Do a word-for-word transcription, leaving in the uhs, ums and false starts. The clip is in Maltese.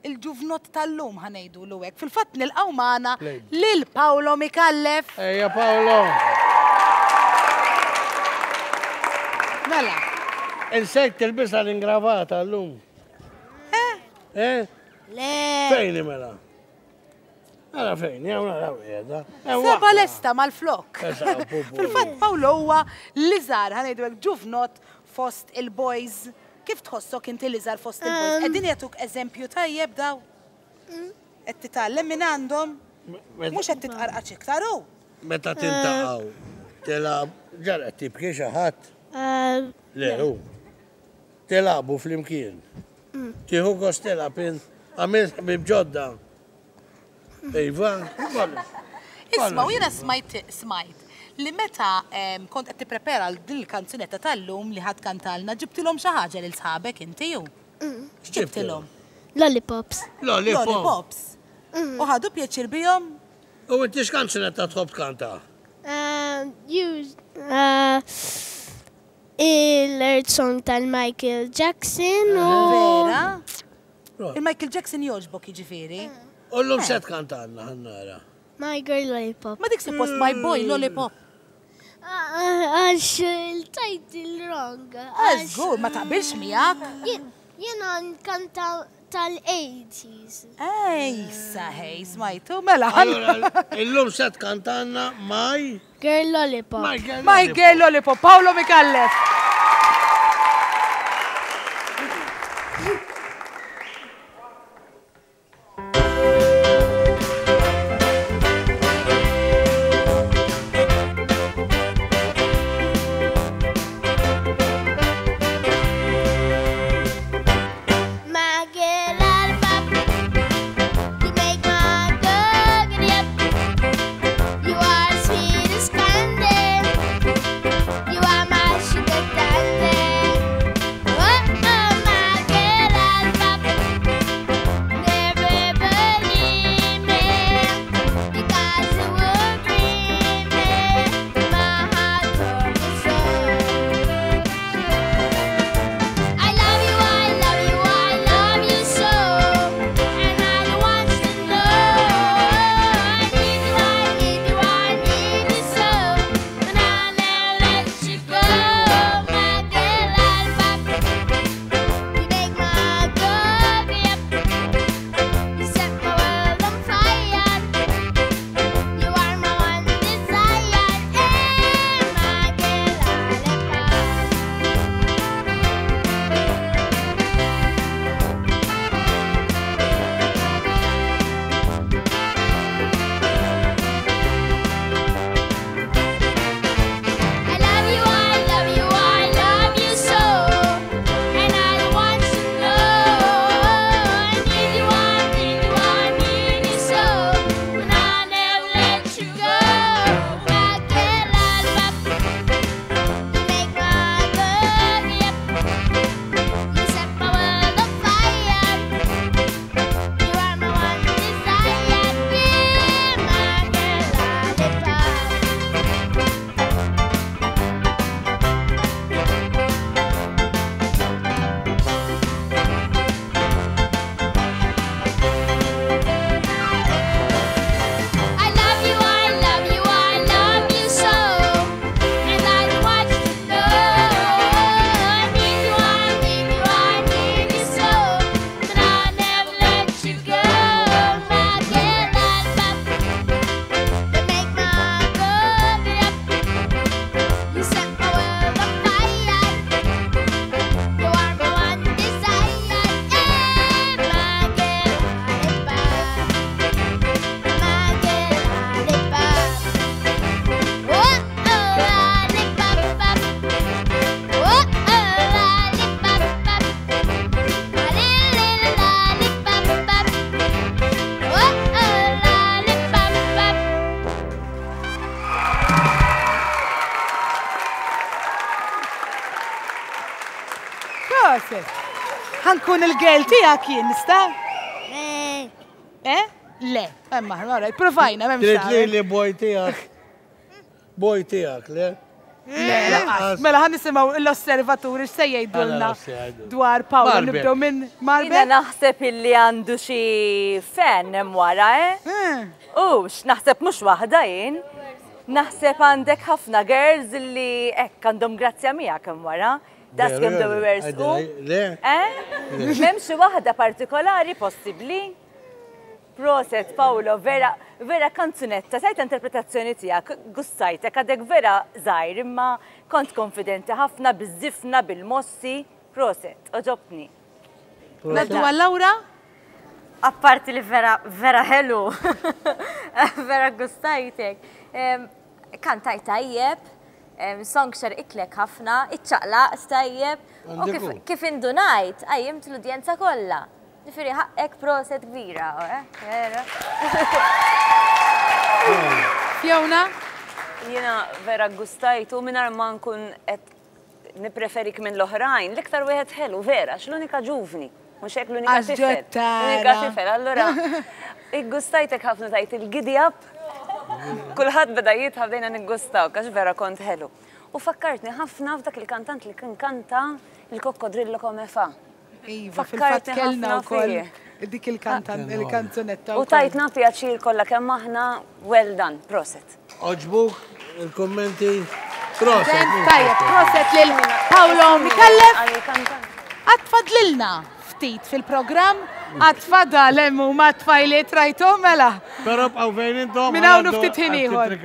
Il-ġuvnot tal-lum ħa ngħidulu hekk. Fil-fatt nilqgħu magħna lil Paolo Micallef. Ejja Paolo. Mela. Insejt tilbisha l-ingravata llum. Eh? Eh? Le. Fejn mela? Ara fejn, jew nara qiegħda. Seba lesta mal-flok. Fil-fatt Paolo huwa l-iżgħar ħa ngħidu hekk ġuvnot fost il-boys. Kif tħossok inti l-iżgħar fost il-boys? Qegħdin jagħtuk eżempju tajjeb daw? Qed titgħallem minn għandhom? Mhux qed titqarqax iktar hu? Meta tintaqgħu, tilgħab, ġara qed tibki xi ħadd? Le, hu. Tilagħbu flimkien. Tieħu gost tilgħab int, għamilt ħbieb ġodda. Iva, Isma' u jiena smajt smajt li meta kont qed tipprepara għal din il-kanzunetta tal-lum li ħadd kantalna ġibtilhom xi ħaġa lil sħabek inti hu. X'ġibtilhom? Lollipops. Lollipops. U ħadu pjaċir bihom? U inti x'kanzunetta tħobb tkanta? Il-Earth Song tal-Michael Jackson u. Vera? Il-Michael Jackson jogħġbok jiġifieri? U llum se tkantalna ħa nara. My Girl Lollipop. Ma dik suppost My Boy Lollipop. Għax il-title wrong. Żgur, ma taqbilx miegħek. Jiena nkanta tal-eighties. Ej, saħej, smajtu, mela. Illum se tkantanna My Girl Lollipop. My Girl Lollipop, Paolo Micallef. You are my sugar daddy. Oh, oh, my girl lollipop. Proset. Ħa nkun il-girl tiegħek jien, nista'? Eh? Le, emma, all right, provajna, m'hemmx Trid li tagħmel. li boy tiegħek. Boy tiegħek, le? Le, lanqas. Mela ħa nisimgħu l-osservaturi x'se jgħidulna dwar Paolo. Nibdew minn Marbel. Jiena naħseb illi għandu xi fan hemm wara, eh? Ux, naħseb mhux waħda jien. Naħseb għandek ħafna girls illi hekk għandhom grazzja miegħek hemm wara. Das kemm dew iwersqu. Eh? M'hemm xi waħda partikolari possibbli? Proset, Paolo, vera, vera kanzunetta, tajt interpretazzjoni tiegħek, gustajtek, għadek vera żgħir, imma kont konfidenti ħafna biż-żifna, bil-mossi. Proset, oġobni. Naddu għal Laura? Apparti li vera, vera ħelu, vera gustajtek. Kantajt tajjeb, song xerqitlek ħafna, iċċaqlaq tajjeb, u kif indunajt, qajjimt l-udjenza kollha. Ġifieri ħaqqek proset kbira, eh? Vera. Fiona? Jiena vera gustajtu mingħajr ma nkun qed nippreferik minn l-oħrajn, l-iktar wieħed ħelu vera, x'l-unika ġuvni, mhux hekk l-unika tifel. L-unika tifel, allura iggustajtek ħafna tajt il-giddy up. Kulħadd beda jitħab bdejna niggustawk għax vera kont ħelu. U fakkartni ħafna f'dak il-kantant li kien kanta il-Coccodrillo come fa. Iva, fil-fatt kellna wkoll dik il-kanzunetta. U tajtna pjaċir kollha kemm aħna, well done, proset. Oġbuk il-kummenti? Proset. Tajjeb, proset lil Paolo Micallef. Għad fadlilna ftit fil-programm, għad fadal hemm huma tfajliet rajthom mela. Però bqgħu fejn intom. Minn hawn ftit ħin ieħor.